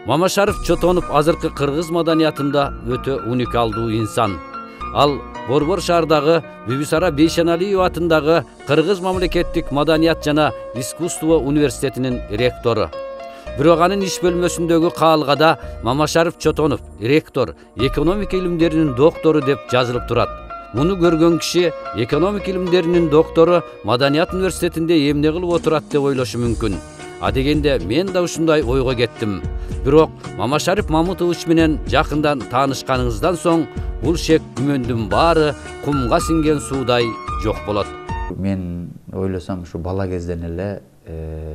Мамашаров Чотонов азыркы кыргыз маданиятында өтө уникалдуу инсан. Ал Борбор шаардагы Бибисара Бейшеналиева атындагы Кыргыз мамлекеттик маданият жана искусство университетинин ректору. Бирок анын иш бөлмөсүндөгү каалгада Мамашаров Чотонов ректор, экономика илимдеринин доктору деп жазылып турат. Муну көргөн киши экономика илимдеринин доктору Маданият университетинде эмне кылып отурат деп ойлошу мүмкүн. А дегенде мен да ушундай ойго кеттим. Бирок Мамашаров Мамытович менен жакындан таанышканыңыздан соң бул шек күмөндүн баары кумга сиңген суудай жок болот. Мен ойлосом ушу бала кезден эле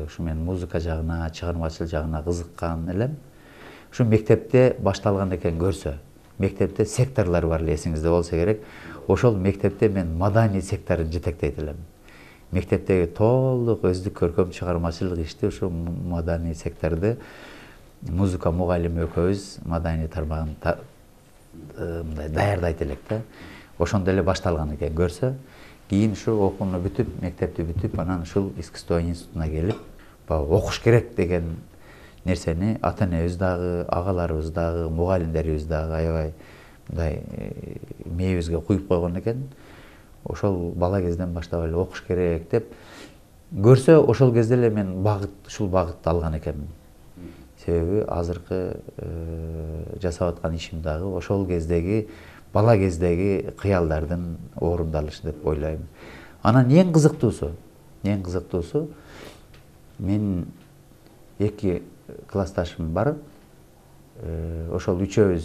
ушу мен музыка жагына, чыгармачылык жагына кызыккан элем. Ушу мектепте башталган экен көрсө. Мектепте секторлор бар эле, эсиңизде болсо керек. Ошол мектепте мен маданий секторун жетектейт элем. Мектептеги толук өздүк көркөм чыгармачылык ишти ушу маданий секторду музыка мугалими экөөбүз маданий тармагын мындай даярдайт элек да. Ошондо эле башталган экен көрсө. Кийин ушу окууну бүтүп, мектепти бүтүп, анан ушул искусство институтуна келип, окуш керек деген нерсени ата-энебиз дагы, агаларыбыз дагы, мугалимдерибиз дагы аябай мындай мээбизге куюп койгон экен. Ошол бала кезден баштап эле окуш керек деп көрсө, ошол кезде эле мен ушул багытты алган экенмин. Себеби азыркы жасап аткан ишим дагы ошол кездеги бала кездеги кыялдардын орундалышы деп ойлойм. Анан эң кызыктуусу мен эки классташым бар. Ошол үчөөбүз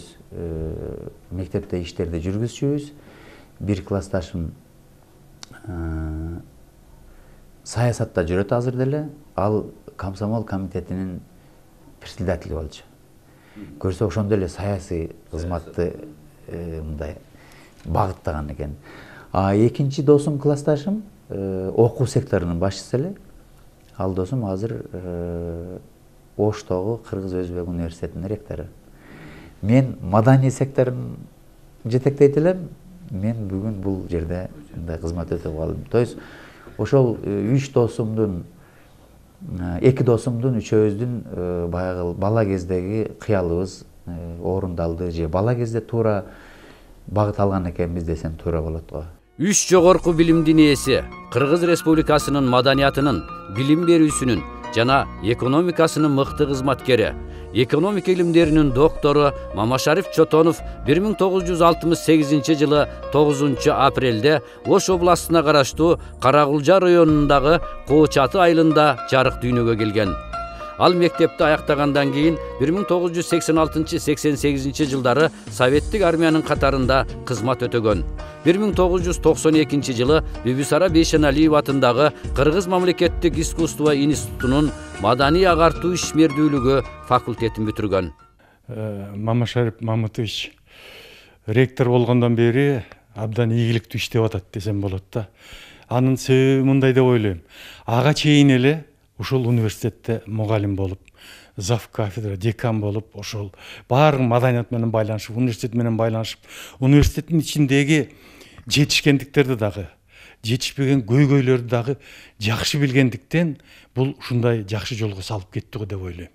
мектепте иштерди жүргүзчүбүз. Бир классташым саясатта жүрөт азыр деле. Ал комсомол комитетинин председатели болчу. Көрсө ошондо эле саясий кызматты мындай багыттаган экен. А экинчи досум классташым окуу секторунун башчысы эле. Ал досум азыр Оштогу Кыргыз Өзбек университетинин ректору. Мен маданий секторун жетектейт элем. Мен бүгүн бул жерде мындай кызмат өтөп калдым. То есть ошол үч досумдун, эки досумдун, үчөөбүздүн баягы бала кездеги кыялыбыз орундалды же бала кезде туура багыт алган экенбиз десем туура болот го. Үч жогорку билимдин ээси, Кыргыз Республикасынын маданиятынын, билим берүүсүнүн жана экономикасынын мыкты кызматкери, экономика илимдеринин доктору Мамашаров Чотонов 1968 жылы 9 апрелде Ош областына караштуу Каракулжа районундагы Коочаты айылында жарык дүйнөгө келген. Ал мектепти аяктагандан кийин 1986-88 жылдары Советтик армиянын катарында кызмат өтөгөн. 1992 жылы Бибисара Бейшеналиева атындагы Кыргыз мамлекеттик искусство институтунун маданий агартуу ишмердүүлүгү факультетин бүтүргөн. Мамашаров Мамытович ректор болгондон бери абдан ийгиликтүү иштеп атат десем болот да. Анын себеби мындай деп ойлойм. Ага чейин эле ушул университетте мугалим болуп, зав кафедра, декан болуп, ошол баары маданият менен байланышып, университет менен байланышып, университеттин ичиндеги жетишкендиктерди дагы, жетишпеген көйгөйлөрдү дагы жакшы билгендиктен бул ушундай жакшы жолго салып кетти го деп ойлойм.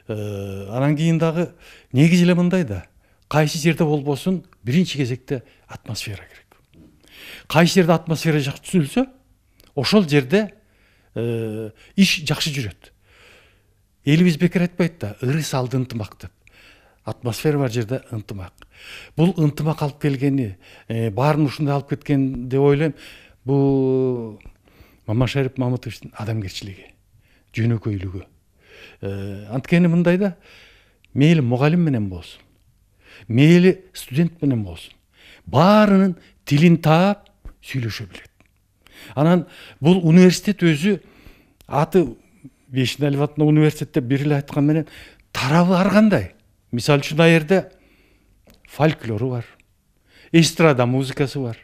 Анан кийин дагы негизи эле мындай да, кайсы жерде болбосун биринчи кезекте атмосфера керек. Кайсы жерде атмосфера жакшы түзүлсө, ошол жерде иш жакшы жүрөт. Элибиз бекер айтпайт да, ыры салды ынтымак деп. Атмосфера бар жерде ынтымак. Бул ынтымак алып келгени, баарын ушундай алып кеткен деп ойлойм. Бул Мамашаров Мамытовичтин адамгерчилиги, жөнөкөйлүгү. Анткени мындай да, мейли мугалим менен болсун, мейли студент менен болсун, баарынын тилин таап сүйлөшө билет. Анан бул университет өзү аты Бейшеналиева атындагы университетте бир эле айткан менен тарабы ар кандай. Мисалы үчүн ал жерде фольклору бар, эстрада музыкасы бар,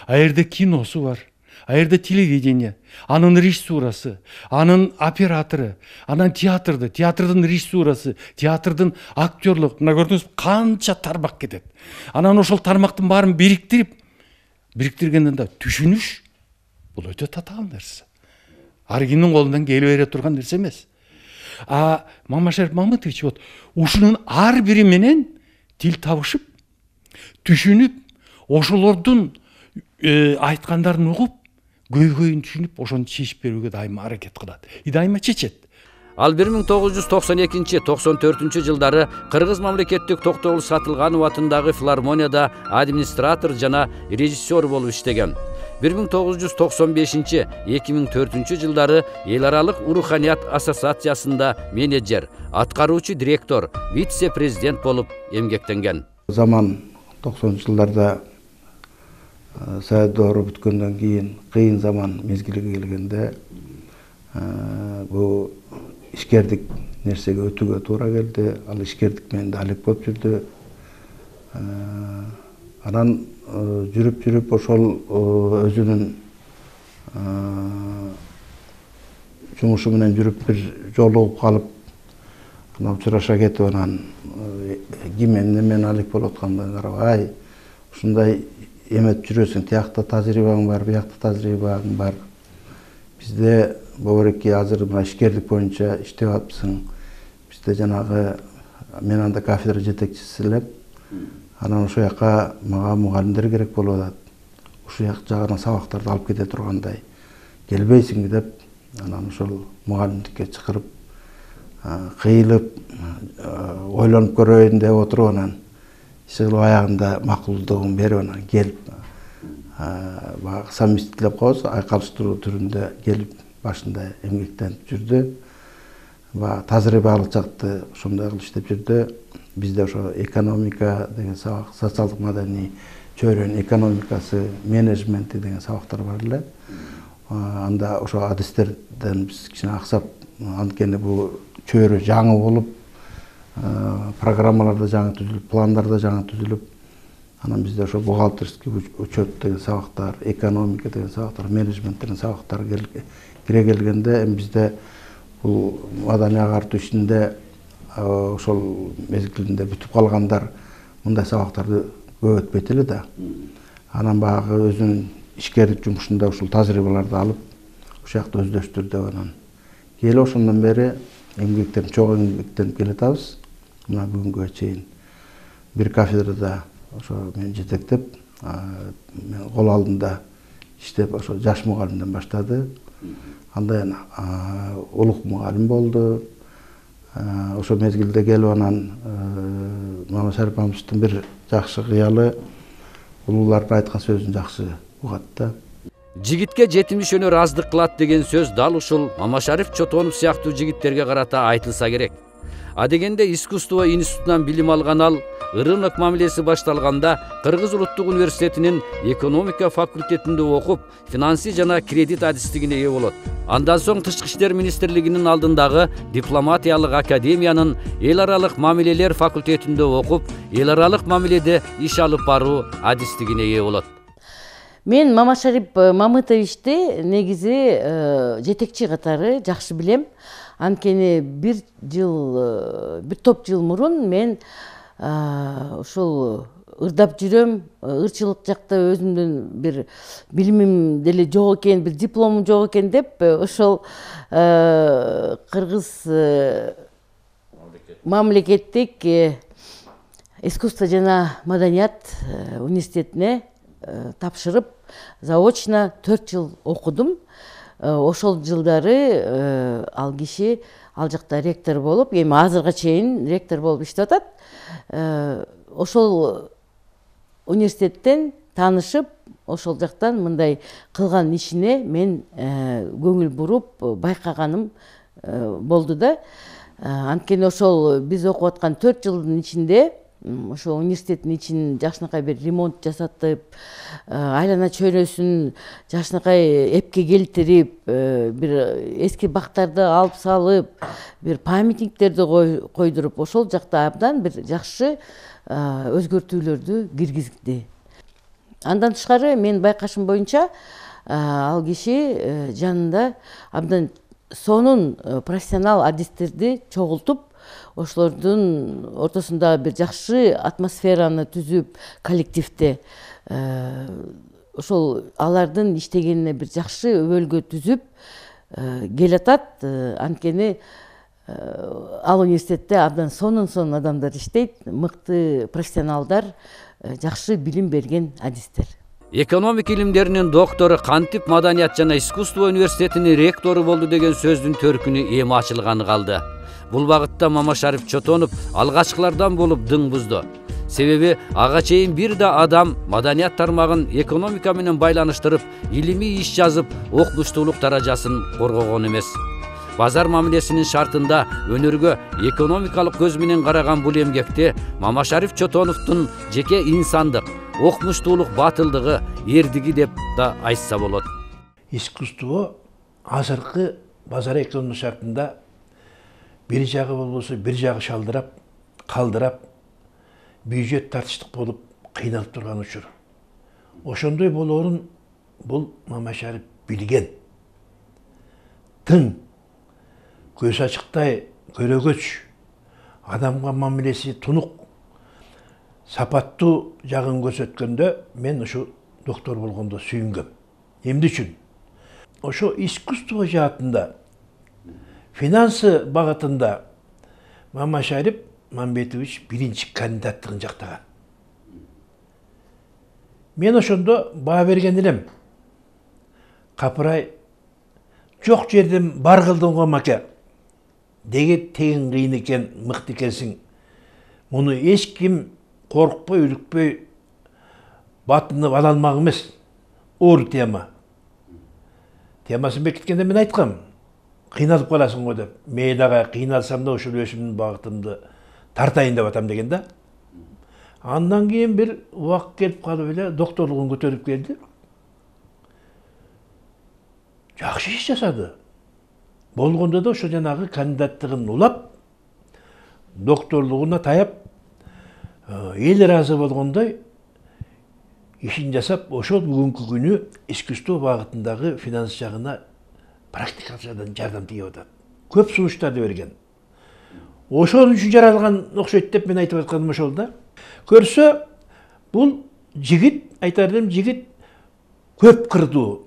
ал жерде киносу бар, ал жерде телевидение, анын режиссурасы, анын оператору, анан театрдын режиссурасы, театрдын актерлук, мына көрдүңүз канча тармак кетет. Анан ошол тармактын баарын бириктиргенден да түшүнүш бул өтө татаал нерсе. Ар кимдин колунан келе бере турган нерсе эмес. А Мамашарip Мамытович вот ушунун ар бири менен тил табышып, түшүнүп, ошолордун айткандарын угуп, көйгөйүн түшүнүп, ошону чечип берүүгө дайыма аракет кылат. И дайыма чечет. Ал 1992-94 жылдары Кыргыз мамлекеттик Токтогул Сатылганов атындагы филармонияда администратор жана режиссер болуп иштеген. 1995-2004 жылдары Эл аралык Руханият ассоциациясында менеджер, аткаруучу директор, вице-президент болуп эмгектенген. Заман 90-жылдарда Совет доору бүткөндөн кийин кыйын заман мезгилиге келгенде бул ишкердик нерсеге өтүүгө туура келди. Ал ишкердик менен да алек болуп жүрдү. Анан жүрүп ошол өзүнүн жумушу менен жүрүп бир жолугуп калып, анан учураша кетип, анан ким эмне менен алек болуп атканына карабай, ушундай эметип жүрөсүң, тиякта тажрыйбаң бар, биякта тажрыйбаң бар. Бизде Бобореки азыр мына ишкерлик боюнча иштеп атпсың. Бизде жанагы мен анда кафедра жетекчиси элем. Анан ошол жака мага мугалимдер керек болуп атат. Ушул жагына сабактарды алып кете тургандай. Келбейсиңби деп, анан ошол мугалимдикке чакырып, кыйылып, ойлонуп көрөйүн деп отуруп, анан иши кылып аягында макулдугун берип, анан келип, баягы совместительдеп коебуз, айкалыштыруу түрүндө келип, башында эмгектенип жүрдү. Тажрыйбалык жакты ошондой кылып иштеп жүрдү. Бизде ошо экономика деген сабак, социалдык маданий чөйрөнүн экономикасы, менеджменти деген сабактар бар эле. Анда ошо адистерден биз кичине аксап, анткени бул чөйрө жаңы болуп, программалар да жаңы түзүлүп, пландар да жаңы түзүлүп, анан бизде ошо бухгалтерский учет деген сабактар, экономика деген сабактар, менеджмент деген сабактар кире келгенде, эми бизде бул маданий агартуу ишинде ошол мезгилинде бүтүп калгандар мындай сабактарды көп өтпөйт эле да. Анан баягы өзүнүн ишкерлик жумушунда ушул тажрыйбаларды алып, ошол жакта өздөштүрдү. Анан келе ошондон бери эмгектенип, чогуу эмгектенип келатабыз. Мына бүгүнгө чейин бир кафедрада ошо мен жетектеп, мен кол алдында иштеп, ошо жаш мугалимден баштады. Андан улук мугалим болду. Ошо мезгилде келип, анан Мамашарip Мамытовичтин бир жакшы кыялы, улуулардын айткан сөзүн жакшы угат да. Жигитке жетимиш өнөр аздык кылат деген сөз дал ушул Мамашарip Чотонов сыяктуу жигиттерге карата айтылса керек. Адегенде искусство институтунан билим алган ал, ырымдык мамилеси башталганда Кыргыз улуттук университетинин экономика факультетинде окуп, финансы жана кредит адистигине ээ болот. Андан соң Тышкы иштер министрлигинин алдындагы дипломатиялык академиянын эл аралык мамилелер факультетинде окуп, эл аралык мамиледе иш алып баруу адистигине ээ болот. Мен Мамашарip Мамытовичти негизи жетекчи катары жакшы билем. Анткени бир топ жыл мурун мен ушул ырдап жүрөм, ырчылык жакта өзүмдүн бир билимим деле жок экен, бир дипломум жок экен деп, ошол Кыргыз мамлекеттик искусство жана маданият университетине тапшырып, заочно 4 жыл окудум. Ошол жылдары ал киши ал жакта ректор болуп, эми азырга чейин ректор болуп иштеп атат. Ошол университеттен таанышып, ошол жактан мындай кылган ишине мен көңүл буруп байкаганым болду да. Анткени ошол биз окуп аткан 4 жылдын ичинде ошо университеттин ичин жакшынакай бир ремонт жасатып, айлана чөйрөсүн жакшынакай эпке келтирип, бир эски бактарды алып салып, бир памятниктерди койдуруп, ошол жакта абдан бир жакшы өзгөртүүлөрдү киргизди. Андан тышкары мен байкашым боюнча ал киши жанында абдан сонун профессионал адистерди чогултуп, ошолордун ортосунда бир жакшы атмосфераны түзүп, коллективде ошол алардын иштегенине бир жакшы өбөлгө түзүп келатат. Анткени ал университетте абдан сонун адамдар иштейт, мыкты профессионалдар, жакшы билим берген адистер. Экономика илимдеринин доктору кантип Маданият жана искусство университетинин ректору болду деген сөздүн төркүнү эми ачылганы калды. Бул багытта Мамашариф Чотонов алгачкылардан болуп дың бузду. Себеби ага чейин бир да адам маданият тармагын экономика менен байланыштырып, илимий иш жазып, окумуштуулук даражасын коргогон эмес. Базар мамилесинин шартында өнөргө экономикалык көз менен караган бул эмгекте Мамашариф Чотоновдун жеке инсандык, окумуштуулук батылдыгы, эрдиги деп да айтса болот. Искусство азыркы базар экономика шартында бир жагы болбосо бир жагы шалдырап, калдырап, бюджет тартыштык болуп кыйналып турган учур. Ошондой болоорун бул Мамашариф билген. Тың, көз ачыктай көрөгөч, адамга мамилеси тунук, сапаттуу жагын көрсөткөндө мен ушу доктор болгондо сүйүнгөм. Эмне үчүн? Ошо искусство жаатында, финансы багытында Мамашариф Мамбетович биринчи кандидаттыгын жактаган. Мен ошондо баа берген элем. Капырай, жок жерден бар кылдың го маке. Деге тегин кыйын экен, мыкты экенсиң. Муну эч ким коркпой, үрүкпөй батынып ала алмак эмес. Оор тема. Темасын бекиткенде мен айткам. Кыйналып каласың го деп. Мен дагы кыйналсам да ошол өзүмдүн багытымды тартайын деп атам деген да. Андан кийин бир убакыт келип калып эле докторлугун көтөрүп келди. Жакшы иш жасады. Болгондо да ошо жанагы кандидаттыгын улап, докторлугуна таяп, эл ыраазы болгондой ишин жасап, ошол бүгүнкү күнү искусство багытындагы финанс жагына практикалык жардам тийип атат. Көп сунуштарды берген. Ошол үчүн жаралган окшойт деп мен айтып атканым ошол да. Көрсө, бул жигит, айтар элем, жигит көп кырдуу,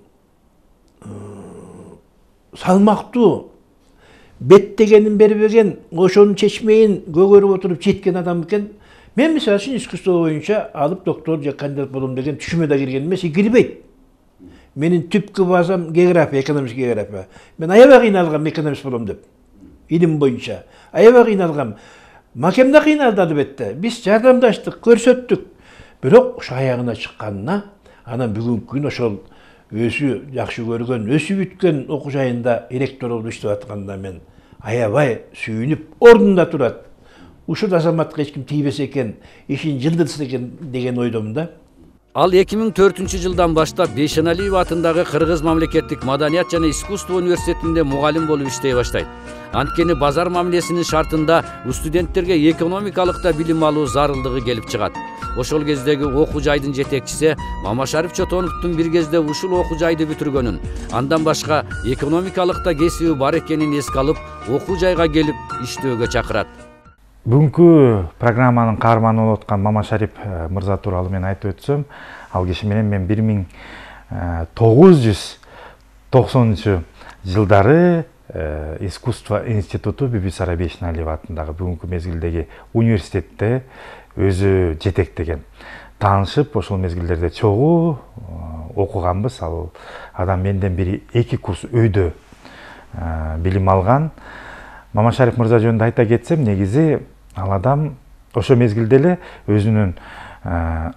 салмактуу, беттегенин бербеген, ошонун чечмейин көгөрүп отуруп жеткен адам экен. Мен мисалы үчүн искусство боюнча алып доктор же кандидат болом деген түшүмө да кирген эмес, кирбейт. Менин түпкү базам география, экономический география. Мен аябай кыйналгам экономист болом деп. Илим боюнча. Аябай кыйналгам. Макем да кыйналды албетте. Биз жардамдаштык, көрсөттүк. Бирок ошо аягына чыкканына, анан бүгүнкү күн ошол өзү жакшы көргөн, өсүп бүткөн окуу жайында ректор болуп иштеп атканда мен аябай сүйүнүп, ордунда турат. Ушул азаматка эч ким тийбесе экен, ишин жылдырса экен деген ойдомун да. Ал 2004-жылдан баштап Бейшеналиев атындагы Кыргыз мамлекеттик маданият жана искусство университетинде мугалим болуп иштей баштайт. Анткени базар мамилесинин шартында студенттерге экономикалык да билим алуу зарылдыгы келип чыгат. Ошол кездеги окуу жайдын жетекчиси Мамашариф Чотоновдун бир кезде ушул окуу жайды бүтүргөнүн, андан башка экономикалыкта кесиби бар экенин эске алып, окуу жайга келип иштөөгө чакырат. Бүгүнкү программанын каарманы болуп аткан Мамашариф мырза тууралуу мен айтып өтсөм, ал киши менен мен 1990-жылдары искусство институту Бибисара Бейшеналиева атындагы бүгүнкү мезгилдеги университетте өзү жетектеген. Таанышып, ошол мезгилдерде чогуу окуганбыз. Ал адам менден бери 2 курс өйдө билим алган. Мамашариф мырза жөнүндө айта кетсем, негизи ал адам ошо мезгилде эле өзүнүн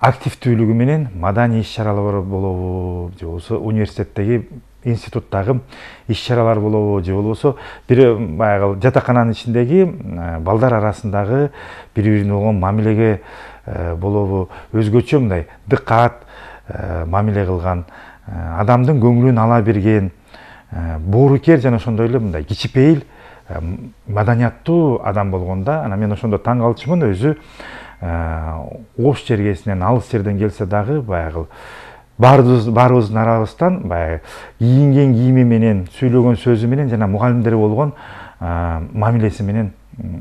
активдүүлүгү менен маданий иш-чаралар болобу, же болбосо университеттеги институттагы иш-чаралар болобу, же болбосо бир баягы жатакананын ичиндеги балдар арасындагы бири-бирине болгон мамилеге болобу, өзгөчө мындай дыккат мамиле кылган, адамдын көңүлүн ала берген, боорукер жана ошондой эле мындай кичипейил маданияттуу адам болгонда, анан мен ошондо таң калчумун. Өзү Ош жергесинен, алыс жерден келсе дагы баягы баарыбыздын арабыздан баягы кийинген кийими менен, сүйлөгөн сөзү менен жана мугалимдери болгон мамилеси менен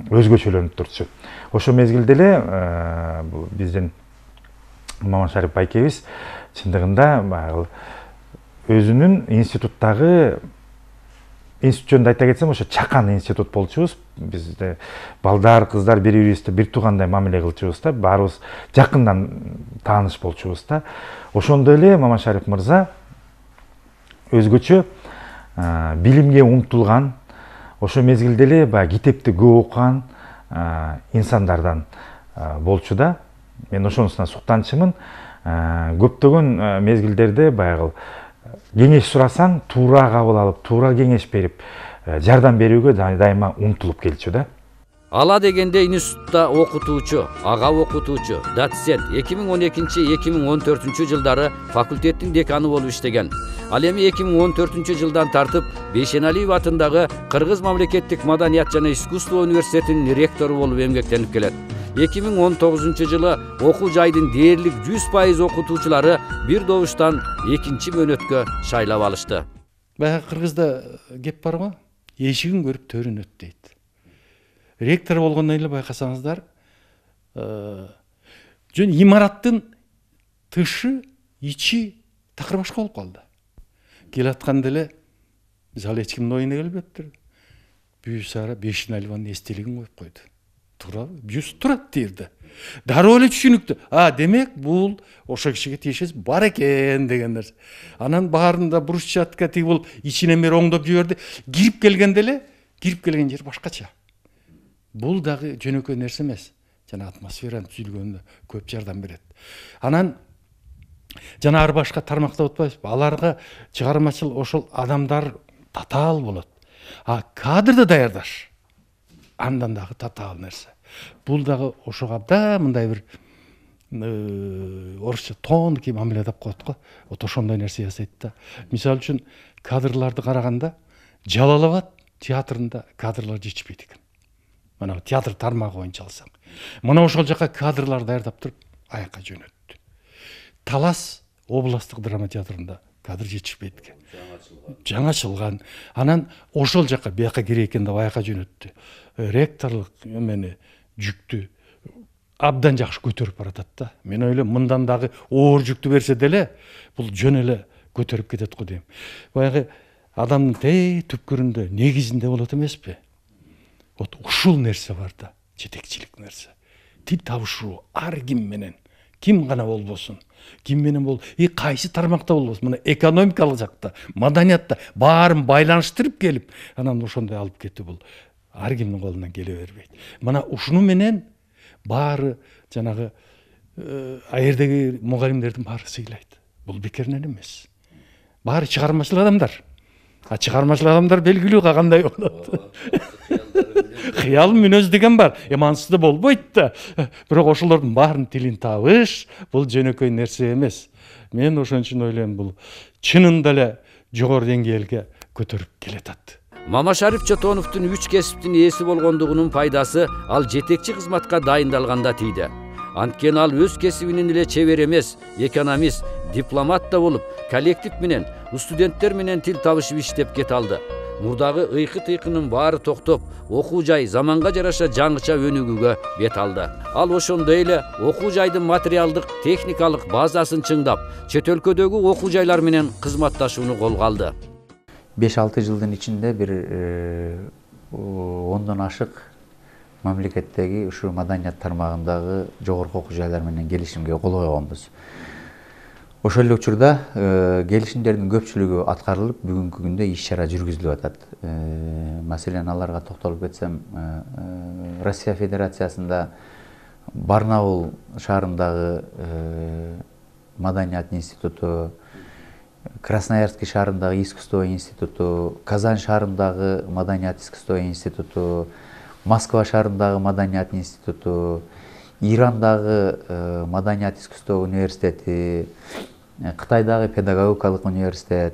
өзгөчөлөнүп турчу. Ошол мезгилде эле биздин Мамашариф байкебиз чындыгында баягы өзүнүн институттагы институт жөнүндө айта кетсем, ошо чакан институт болчубуз. Бизде балдар, кыздар бири-бирибизди бир туугандай мамиле кылчубуз да, баарыбыз жакындан тааныш болчубуз да. Ошондой эле Мамашарипов мырза өзгөчө билимге умтулган, ошо мезгилде эле баягы китепти көп окуган инсандардан болчу да. Мен ошонусуна суктанчымын. Көптөгөн мезгилдерде баягы кеңеш сурасаң, туура кабыл алып, туура кеңеш берип, жардам берүүгө дайыма умтулуп келчү да. Ала дегенде институтта окутуучу, ага окутуучу, доцент 2012-2014 жылдары факультеттин деканы болуп иштеген. Ал эми 2014 жылдан тартып Бейшеналиев атындагы Кыргыз мамлекеттик маданият жана искусство университетинин ректору болуп эмгектенип келет. 2019 жылы окуу жайдын дээрлик 100% окутуучулары бир добуштан экинчи мөөнөткө шайлап алышты. Баягы кыргызда кеп бар го, эшигин көрүп төрүн өт дейт. Ректор болгондон эле байкасаңыздар, жөн имараттын тышы, ичи такыр башка болуп калды. Келатканда эле мисалы эч кимдин оюна келбептир. Бүйүсара Бейшеналиеванын эстелигин коюп койду. Туурабы? Бюст турат дерди. Дароо эле түшүнүктүү. Демек бул ошо кишиге тиешеси бар экен деген нерсе. Анан баарында брусчатка тиги болуп ичинен бери оңдоп жиберди. Кирип келгенде эле, кирип келген жер башкача. Бул дагы жөнөкөй нерсе эмес. Жана атмосферанын түзүлгөнүнө көп жардам берет. Анан жана ар башка тармакта отпайбызбы? Аларга чыгармачыл ошол адамдар татаал болот. Кадрды даярдаш андан дагы татаал нерсе. Бул дагы ошого абдан мындай бир орусча тонкий мамиле деп коет го. Вот ошондой нерсе жасайт да. Мисалы үчүн кадрларды караганда Жалал-Абад театрында кадрлар жетишпейт экен. Мына театр тармагы боюнча алсаң. Мына ошол жака кадрлар даярдап туруп аякка жөнөттү. Талас областтык драма театрында кадр жетишпейт экен. Жаңачылган. Анан ошол жака бияка керек экен деп аякка жөнөттү. Ректорлук эмени жүктү абдан жакшы көтөрүп баратат да. Мен ойлойм, мындан дагы оор жүктү берсе деле, бул жөн эле көтөрүп кетет го дейм. Баягы адамдын түпкүрүндө, негизинде болот эмеспи? Вот ушул нерсе бар да, жетекчилик нерсе. Тил табышуу ар ким менен, ким гана болбосун, ким менен бол, кайсы тармакта болбосун, мына экономикалык жакта, маданиятта баарын байланыштырып келип, анан ошондой алып кетүү бул ар кимдин колунан келе бербейт. Мына ушуну менен баары жанагы аердеги мугалимдердин баары сыйлайт. Бул бекеринен эмес. Баары чыгармачыл адамдар. Чыгармачыл адамдар белгилүү кандай болот. Кыял мүнөз деген бар. Ансызды болбойт да. Бирок ошолордун баарын тилин табыш, бул жөнөкөй нерсе эмес. Мен ошон үчүн ойлойм, бул чынында эле жогору деңгээлге көтөрүп келатат. Мамашарипов Чотоновдун 3 кесиптин ээси болгондугунун пайдасы ал жетекчи кызматка дайындалганда тийди. Анткени ал өз кесибинин эле чебер эмес, экономист, дипломат да болуп, коллектив менен, студенттер менен тил табышып иштеп кете алды. Мурдагы ыйкы-тыйкынын баары токтоп, окуу жай заманга жараша жаңыча өнүгүүгө бет алды. Ал ошондой эле окуу жайдын материалдык, техникалык базасын чыңдап, чет өлкөдөгү окуу жайлар менен кызматташууну колго алды. 5-6 жылдын ичинде бир 10дон ашык мамлекеттеги ушу маданият тармагындагы жогорку окуу жайлар менен келишимге кол койгонбуз. Ошол эле учурда келишимдердин көпчүлүгү аткарылып, бүгүнкү күндө иш-чара жүргүзүлүп атат. Маселен, аларга токтолуп кетсем, Россия Федерациясында Барнаул шаарындагы маданият институту, Красноярский шаарындагы искусство институту, Казань шаарындагы маданият искусство институту, Москва шаарындагы маданият институту, Ирандагы маданият искусство университети, Кытайдагы педагогикалык университет,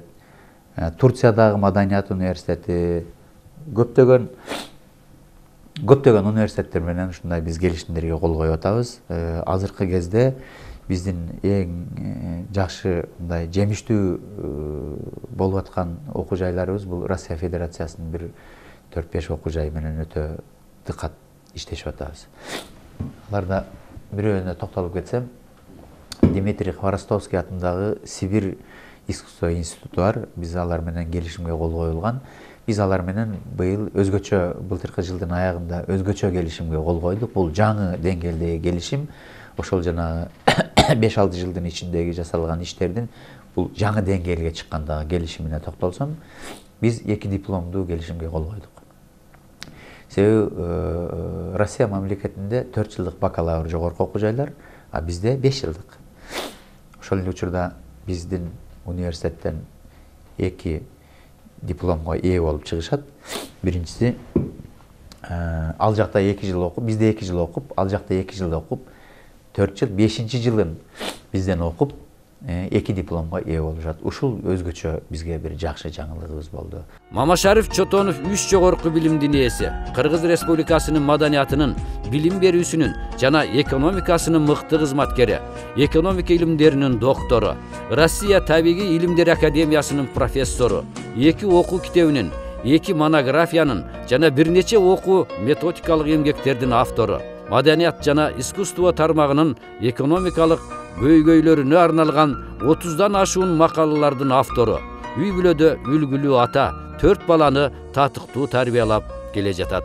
Турциядагы маданият университети, көптөгөн университеттер менен ушундай биз келишимдерге кол коюп атабыз. Азыркы кезде биздин эң жакшы мындай жемиштүү болуп аткан окуу жайларыбыз бул Россия Федерациясынын бир 4-5 окуу жайы менен өтө дыкат иштешип атабыз. Аларда бирөөнө токтолуп кетсем, Дмитрий Хворостовский атындагы Сибирь искусство институту бар. Биз алар менен келишимге кол коюлган. Биз алар менен быйыл өзгөчө, былтыркы жылдын аягында өзгөчө келишимге кол койдук. Бул жаңы деңгээлдеги келишим. Ошол жанагы 5-6 жылдын ичиндеги жасалган иштердин бул жаңы деңгээлге чыккандагы келишимине токтолсом, биз 2 дипломдуу келишимге кол койдук. Себеби Россия мамлекетинде 4 жылдык бакалавр жогорку окуу жайлар, а бизде 5 жылдык. Ошол эле учурда биздин университеттен 2 дипломго ээ болуп чыгышат. Биринчиси ал жакта 2 жыл окуп, бизде 2 жыл окуп, ал жакта 2 жыл окуп, 4 жыл, 5-чи жылын бизден окуп, 2 дипломго ээ болушат. Ушул өзгөчө бизге бир жакшы жаңылыгыбыз болду. Мамашариф Чотонов 3 жогорку билимдин ээси, Кыргыз Республикасынын маданиятынын, билим берүүсүнүн жана экономикасынын мыкты кызматкери, экономика илимдеринин доктору, Россия табигый илимдер академиясынын профессору, 2 окуу китебинин, 2 монографиянын жана бир нече окуу методикалык эмгектердин автору, маданият жана искусство тармагынын экономикалык көйгөйлөрүнө арналган 30дан ашуун макалалардын автору, үй бүлөдө үлгүлүү ата, 4 баланы татыктуу тарбиялап келе жатат.